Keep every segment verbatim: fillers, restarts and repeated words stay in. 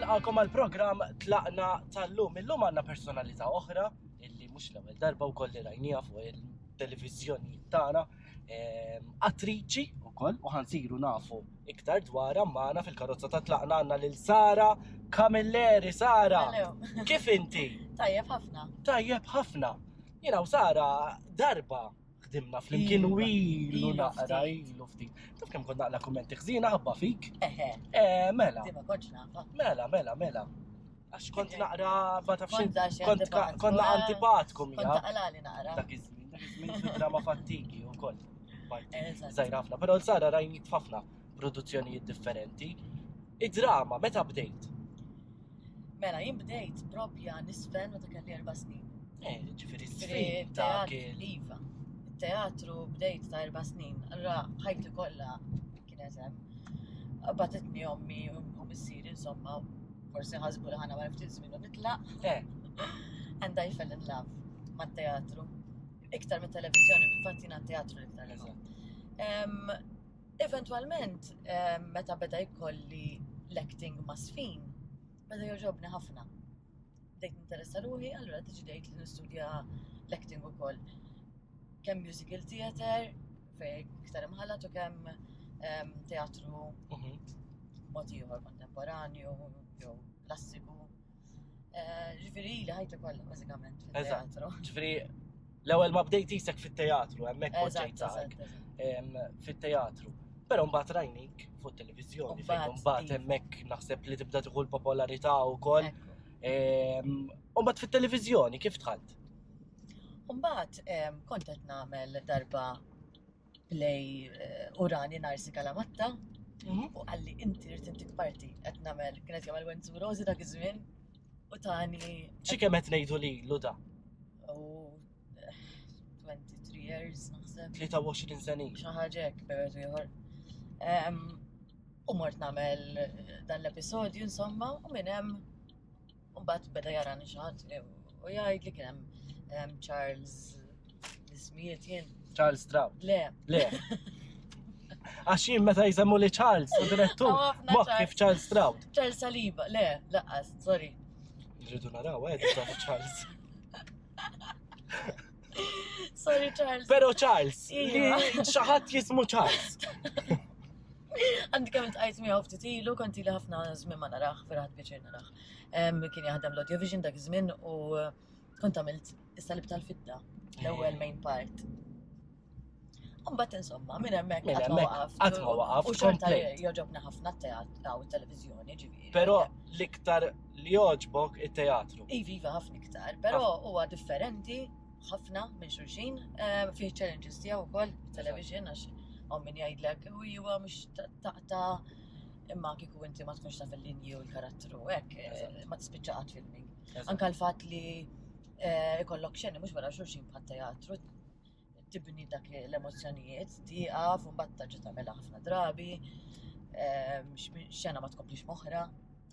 Nilqakom għal programm Tlaqna tal-lum. Illum għandna personalità oħra illi mhux l-ewwel darba wkoll li rajniha fuq il-televiżjoni tagħna, ehm, attriċi wkoll, u ħansiru nafu iktar dwarha. Magħna fil-karozza ta' Tlaqna għandna lil Sara Camilleri. Sara, Hello. kif inti? Tajjeb ħafna. Tajjeb ħafna. Jiena u Sara darba ħdimna flimkien u Iva, ilu ilu naqra, ftit. ilu ftit. Taf kemm kont naqla kummenti ħżiena ħabba fik? Eħe, Eh, mela. di ma kontx nafa. Mela, mela, mela. Għax kont naqra ma tafx Kont daxi kont ka- antipatku, konna eh. antipatku Kont mija. taqlali naqra. Dak iż-żmien, dak iż-żmien fid-drama fattigi wkoll. Parti Eżatt. żgħira ħafna, però l-Sara rajnik f'ħafna produzzjonijiet differenti. Id-drama meta bdejt? Mela, jien bdejt propja nisfen meta kelli erba' snin. Eh, ġifieri Ġifieri, żfin ta' teatru- kien. Iva. Teatru bdejt ta' erba' snin. Allura ħajti kollha kienet hemm. Bagħtitni ommi u missieri, insomma, forsi ħasbu li ħa nagħmel ftit żmien u nitlaq. Eh, And I fell in love mat-teatru. Iktar mit-televiżjoni, bil-fatt jiena teatru l-iktar li nħobb. Em, Eventualment, em, meta beda jkolli l-acting ma' żfin, beda jogħġobni ħafna. Bdejt ninteressa ruħi, allura deċidejt li nistudja l-acting ukoll. Kemm musical theater, fej iktar imħallat, u kemm em, teatru mhm. mod ieħor kontemporanju jew klassiku. Eh, Ġifieri li ħajti kollha bażikament Eżatt. fit-teatru. Ġifieri l-ewwel ma bdejt isek fit-teatru, hemmhekk Eżatt, poġġejt eżatt, saqek eżatt. em, fit-teatru. Però mbagħad rajnik fuq televiżjoni fejn Mbagħad, mbagħad iva. hemmhekk naħseb li tibda tieħu l-popolarità wkoll. Ekku. Em, U mbagħad fit-televiżjoni kif dħalt? Mbagħad em, kont qed nagħmel darba play eh, Urani Narsi Kalamatta u qalli, "Inti rrid intik parti." Qed nagħmel, kienet jagħmel Wenzu Rosi dak iż-żmien, u tani. Xi kemm qed ngħidu lilu da? U eh, twenty-three years naħseb. tlieta u għoxrin sena. Xi ħaġa hekk, bejn ieħor. Em, U mort nagħmel dan l-episodju, insomma, u minn hemm mbagħad beda jarani xi ħadd u jgħid li kien hemm em, Charles l-ismijiet jien. Charles Stroud. Le. Le. Għax jien meta jsemmu li Charles u direttur, Hawn ħafna moħ Charles. kif Charles Stroud. Charles Saliba, le, lanqas, sorry. Nridu naraw, eh, dan Charles. Sorry, Charles. Pero Charles, li Iva. xi ħadd jismu Charles. Għandi kemm iltqajt miegħu ftit ilu, kont ili ħafna żmien ma narah, vera ħadt pjaċir narah. Em, Kien jaħdem l-Audiovision dak iż-żmien u eh, kont għamilt is-Salib tal-Fidda, l-ewwel main part. Mbagħad, insomma, minn hemmhekk Minn qatt ma hemmhekk waqaft. qatt ma waqaft, U xorta komplejt. jogħġobna ħafna t-teatru u t-televiżjoni, ġifieri. Però l-iktar li jogħġbok it-teatru. Iva, iva, ħafna iktar, però huwa differenti ħafna minn xulxin, eh, fih challenges tiegħu wkoll television, għax hawn min jgħidlek u huwa mhux taqta, imma kieku inti ma tkunx taf il-linji u l-karattru hekk eh, Eżatt. ma tispiċċa qatt filming. Eżatt. Anka l-fatt li eh, ikollok xeni mhux wara xulxin bħat teatru, tibni dak l-emozzjonijiet, tieqaf u mbagħad terġa' tagħmilha ħafna drabi, eh, xena ma tkomplix m'oħra.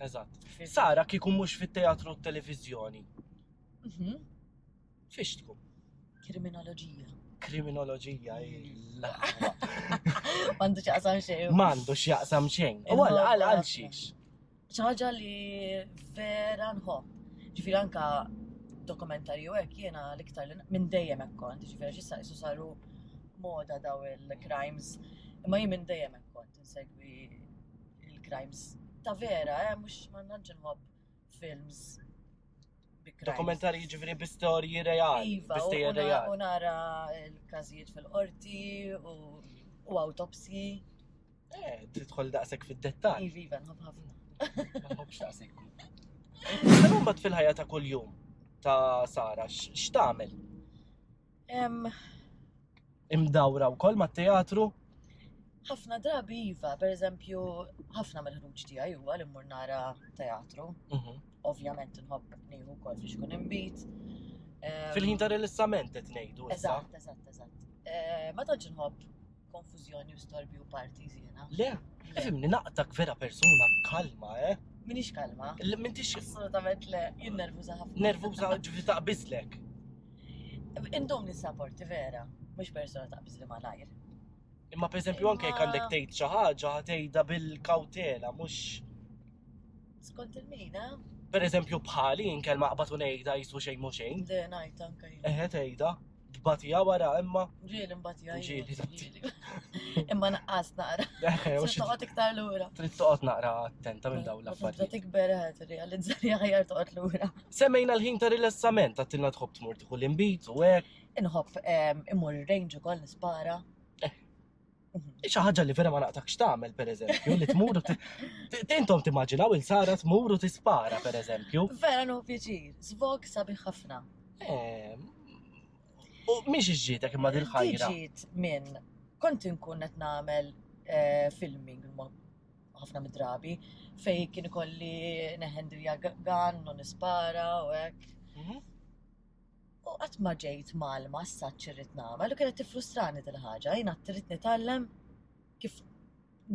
Eżatt. Sara, kieku mhux fit-teatru u t-televiżjoni, Mhm. fiex tkun? Kriminoloġija. Kriminoloġija, il-aħwa. M'għandu x'jaqsam xejn. M'għandu x'jaqsam xejn. U għal għal għal xiex. Xi ħaġa li vera nħobb. Ġifieri anka dokumentarju hekk jiena l-iktar li minn dejjem hekk kont, ġifieri issa qisu saru moda daw il-crimes, imma jien minn dejjem hekk kont insegwi il-crimes ta' vera, eh, mhux ma nantx nħobb films bi crimes. Dokumentarji ġifieri bi storji reali, Iva, bi u- stejjer u na- reali. u nara l-każijiet fil-qorti u u autopsji. Eh, tidħol daqshekk fid-dettall. Iva, iva, nħobb ħafna. Ma nħobbx daqshekk. Però mbagħad fil-ħajja ta' kuljum ta' Sara, x- x'tagħmel? Em, Imdawra wkoll mat-teatru? Ħafna drabi iva, per eżempju, ħafna mill-ħruġ tiegħi huwa li mmur nara teatru. Mhm. Ovvjament nħobb nieħu wkoll biex ikun inbid. Em, Fil-ħin ta' rilassament qed ngħidu issa. Eżatt, eżatt, eżatt. Eh, Ma tantx nħobb konfużjoni u storbi u parties jiena. Le, ifhimni, naqtak vera persuna kalma, eh? Minix kalma. Li m'intix Assolutament le, jien nervuża ħafna. Nervuża, ġifieri taqbiżlek. Indum nissaporti vera, mhux persuna taqbiż li malajr. Imma per eżempju anke jekk għandek tgħid xi ħaġa, tgħidha bil-kawtela, mhux Skont il-min, eh? Per eżempju bħali inkel maqbad u ngħidha jisu xejn mhu xejn. Le, ngħid anke jien. Eħe tgħidha, tbatija wara imma. Ġieli mbatija. Ġieli, ġieli. Imma naqqas naqra. Eħe, u Trid xi toqgħod iktar lura. trid toqgħod naqra attenta minn dawn Meta tibda l-affarijiet. tikber eh, tirrealizza li aħjar toqgħod lura. Semmejna l-ħin ta' rilassament, għattilna tħobb tmur tieħu l-inbid u hekk. Inħobb em, immur ir-range ukoll nispara. Eh. Xi ħaġa li vera ma naqtakx tagħmel pereżempju, li tmur u ti- ti- intom timmaġinaw il-Sara tmur u tispara pereżempju. Vera nieħu pjaċir. Zvog sabiħ ħafna. Eh, U mhix iġġietek imma dil-ħajra. Ġiet minn kont inkun qed nagħmel eh, filming ma- ħafna mid-drabi fej kien ikolli neħendilja gun u nispara u hekk. Mhm. U qatt ma ġejt malma s-saċ irrid nagħmel u kienet tiffrustrani dil-ħaġa, jiena trid nitgħallem kif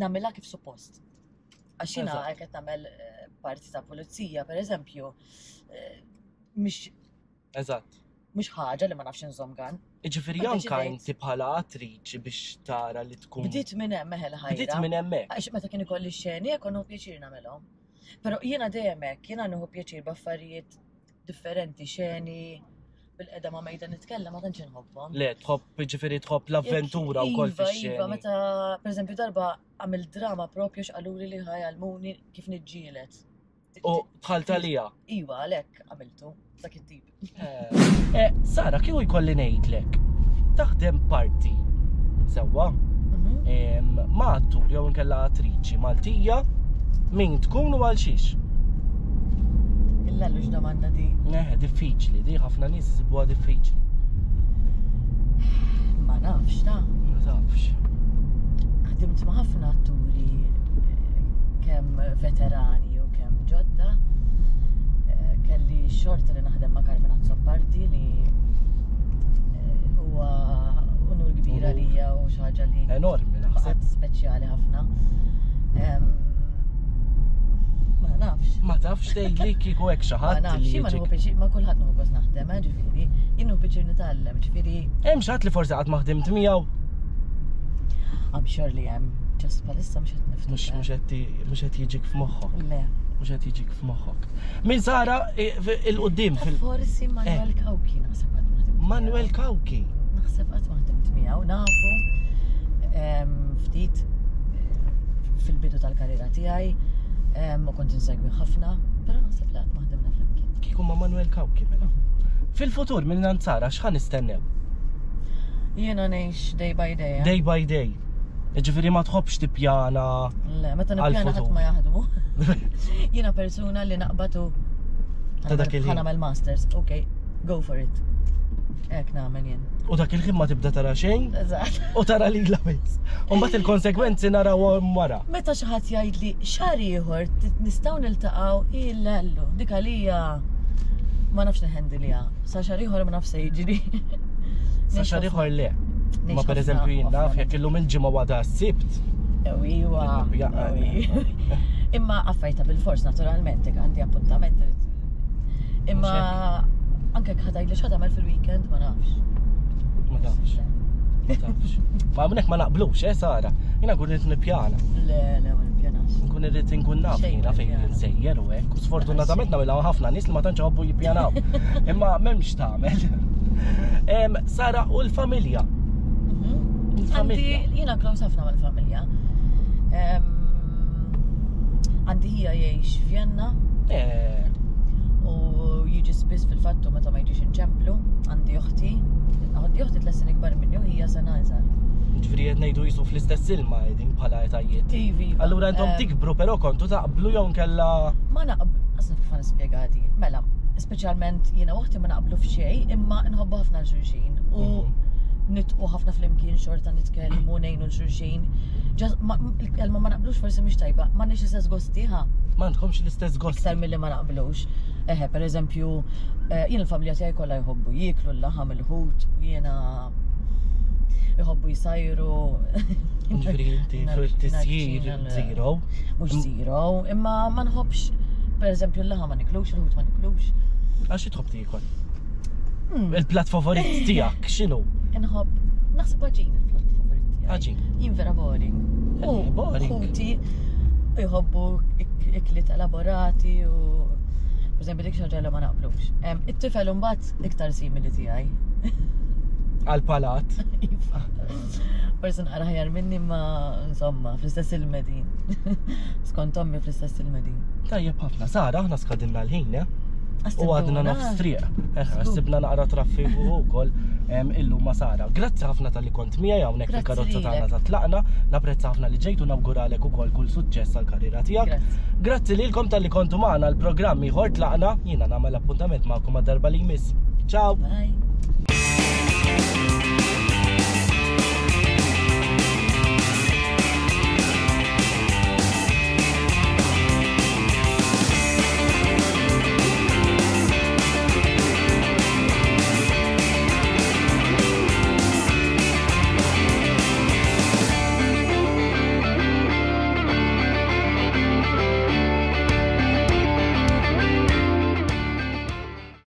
nagħmilha kif suppost. Għax jiena Eżatt. qed nagħmel eh, parti ta' pulizija, pereżempju, eh, mhix Eżatt. mhux ħaġa li ma nafx inżomm gun. Iġifieri U anka deċidejt. inti bħala attriċi biex tara li tkun. Bdiet minn hemm eħel ħajra. Bdiet minn hemmhekk. Għax meta kien ikolli xeni, jekk nieħu pjaċir nagħmelhom. Però jiena dejjem hekk, jiena nieħu pjaċir b'affarijiet differenti, xeni, bil-qeda ma' mejda nitkellem ma tantx inħobbhom. Le, tħobb ġifieri tħobb l-avventura wkoll Iva, iva, fix-xeni. meta, per eżempju, darba għamil drama propju x'qaluli li ħajalmuni kif niġġielet. U dħalt għalija. Iva, għalhekk għamiltu dak it-tip. Eh, Sara, kieku jkolli ngħidlek, taħdem parti sewwa Mhm. em, ma' attur jew inkella attriċi Maltija min tkun u għal xiex. Illa domanda di. Neħe, diffiċli, di ħafna nies isibuha diffiċli. Ma nafx ta' Ma tafx. ħdimt ma' ħafna atturi eh, kemm veterani u kemm ġodda. Eh, Kelli xorta li naħdem ma' Carmen Azzopardi li eh, huwa unur kbira Unur. lija u xi ħaġa li Enormi naħseb. baqgħet speċjali ħafna. Em, Ma nafx. Ma tafx tgħidli kieku hekk xi Ma ħadd nafx, li jien ma jiġik. nieħu pjaċir, ma kulħadd nieħu gost naħdem, eh, ġifieri. Jien nieħu pjaċir nitgħallem, ġifieri Hemm xi ħadd li forsi qatt ma ħdimt miegħu I'm sure li hemm just bħalissa mhux qed mhux niftakar. mhux qed ti- mhux qed jiġik f'moħħok. Le. Mhux qed jiġik f'moħħok. Min Sara eh, fi- il-qudiem fil Forsi Manuel Cauchi naħseb qatt ma ħdimt. Manuel miegħu. Cauchi. Naħseb qatt ma ħdimt miegħu, nafu em, ftit eh, fil-bidu tal-karriera tiegħi em, u kont insegwi ħafna, però naħseb li qatt ma ħdimna flimkien. Kieku ma' Manuel Cauchi mela. Fil-futur minn Sara x'ħa nistennew? Jiena ngħix day by day. eh? Day by day. Ġifieri ma tħobbx tippjana. Le, meta nippjana Għal-futur. ħadd ma jaħdmu. Jiena persuna li naqbatu Ta' dak il-ħin. ħa nagħmel masters, ok, go for it. Hekk nagħmel jien. U dak il-ħin ma tibda tara xejn Eżatt. u tara lila biss. U mbagħad il-konsegwenzi narawhom wara. Meta xi ħadd jgħidli xahar ieħor t- nistgħu niltaqgħu illallu, dik għalija ma nafx neħendilha. Sa xahar ieħor ma nafx se jiġri. Sa xahar ieħor le. Ma per eżempju jien naf jekk illum il-ġimgħa wada s-sibt. Iwa. Ja, Imma affajta bil-fors naturalment, jekk għandi appuntament. Imma anke jekk ħa tgħidli x'ħa tagħmel fil-weekend ma nafx. Ma tafx. Ma tafx. Ma hawnhekk ma naqblux, eh Sara. Jiena nkun irid nippjana. Le, le, ma nippjanax. Nkun irrid inkun naf Xejn jiena fejn nippjana. insejjer u hekk. U sfortunatament nagħmilha ħafna nies li ma tantx iħobbu jippjanaw. Imma m'hemmx tagħmel. Em, Sara u l-familja. Mhm. Għandi, Il-familja. jiena close ħafna mal-familja. Em, Għandi ħija jgħix Vienna Eh, u jiġi spiss fil-fattu meta ma jiġix inċemplu. Għandi oħti, għandi oħti tliet snin ikbar minni u hija sena iżgħar. Ġifieri qed ngħidu jisu fl-istess ilma qegħdin bħala etajiet. Iva, iva. Allura intom Em, tikbru però kontu taqblu jew nkella Ma naqb, għasna kif nispjegati. Mela, speċjalment jiena u oħti ma naqblu f'xejn, imma nħobbu ħafna l-xulxin u Mhm. nitqu ħafna flimkien xorta nitkellmu ngħinu l-xulxin. Ġas- ma- Il-kelma ma naqblux forsi mhix tajba, ma nix l-istess gosti ħa. m'għandkomx l-istess gost. Iktar milli ma naqblux. Eħe, per eżempju, eh, jien il-familja tiegħi kollha jħobbu jieklu l-laħam il-ħut u jiena jħobbu jsajru. Ġifieri inti Nar- fil-tisjir narċina l- zero. Mhux zero, imma ma nħobbx, per eżempju, l-laħam ma niklux, il-ħut ma niklux. Għax tħobb tiekol. Hmm. Il-plat favorit tiegħek x'inhu? Inħobb, naħseb għaġin il-plat favorit tiegħi. Għaġin. Jien vera boring. Eh, U boring. ħuti jħobbu ikliet elaborati u per eżempju dik xi ħaġa li ma naqblux. Em, It-tifel imbagħad iktar simili tiegħi. Għal-palat. Iva. Forsi naqra aħjar minni ma insomma fl-istess il-medin. Skont ommi fl-istess il-medin. Tajjeb ħafna. Sara, aħna skadinna l-ħin, eh? U għadna nofs triq. Eħe, Żgur. sibna naqra traffiku wkoll em, illum ma' Sara. Grazzi ħafna talli kont miegħi hawnhekk Grazzi fil-karozza tagħna lilek. ta' tlaqna. Napprezza ħafna li ġejt u nawguralek ukoll kull suċċess għall-karriera tiegħek. Grazzi. Grazzi lilkom talli kontu magħna l-programm ieħor tlaqna. Jiena nagħmel appuntament magħkom għad-darba li jmiss. Ciao! Bye.